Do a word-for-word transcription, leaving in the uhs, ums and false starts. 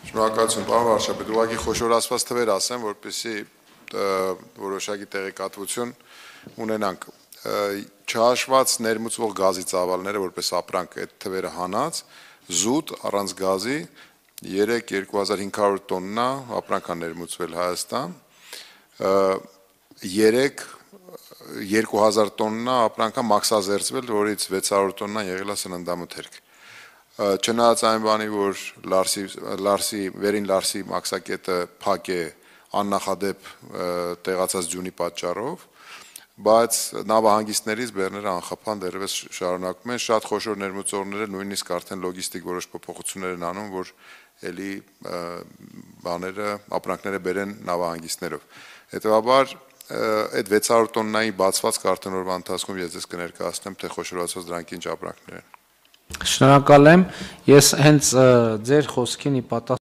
Շնորհակալություն, պարոն վարչապետ, ուղղակի խոշորացված թվեր ասեմ, որպեսզի որոշակի տեղեկատվություն ունենանք։ Չհաշված ներմուծվող գազի ծավալները, որպես ապրանք այդ թվերը հանած, զուտ առանց գազի երեք երկու հազար հինգ հարյուր տոննա ապրանք են ներմուծվել Հայաստան, երեք երկու հազար տոննա ապրանք են մաքսազերծվել, որից վեց հարյուր տոննան եղել է սննդամթերք։ Չնայած այն բանի, որ Լարսի, վերին Լարսի մաքսակետը փակ է աննախադեպ տեղացած ձյունի պատճառով, բայց նավահանգիստներից բեռները անխափան դեռևս շարունակում են, շատ խոշոր ներմուծողները նույնիսկ արդեն լոգիստիկ որոշ փոփոխություններ են անում, որ էլի բաները, ապրանքները բերեն նավահանգիստներով։ Հետևաբար այդ վեց հարյուր տոննայի բացված արդեն օրվա ընթացքում ես ձեզ կներկայացնեմ, թե խոշորացված դրանք ինչ ապրանքներ են։ Շնորհակալ եմ, ես հենց ձեր խոսքին ի պատասխան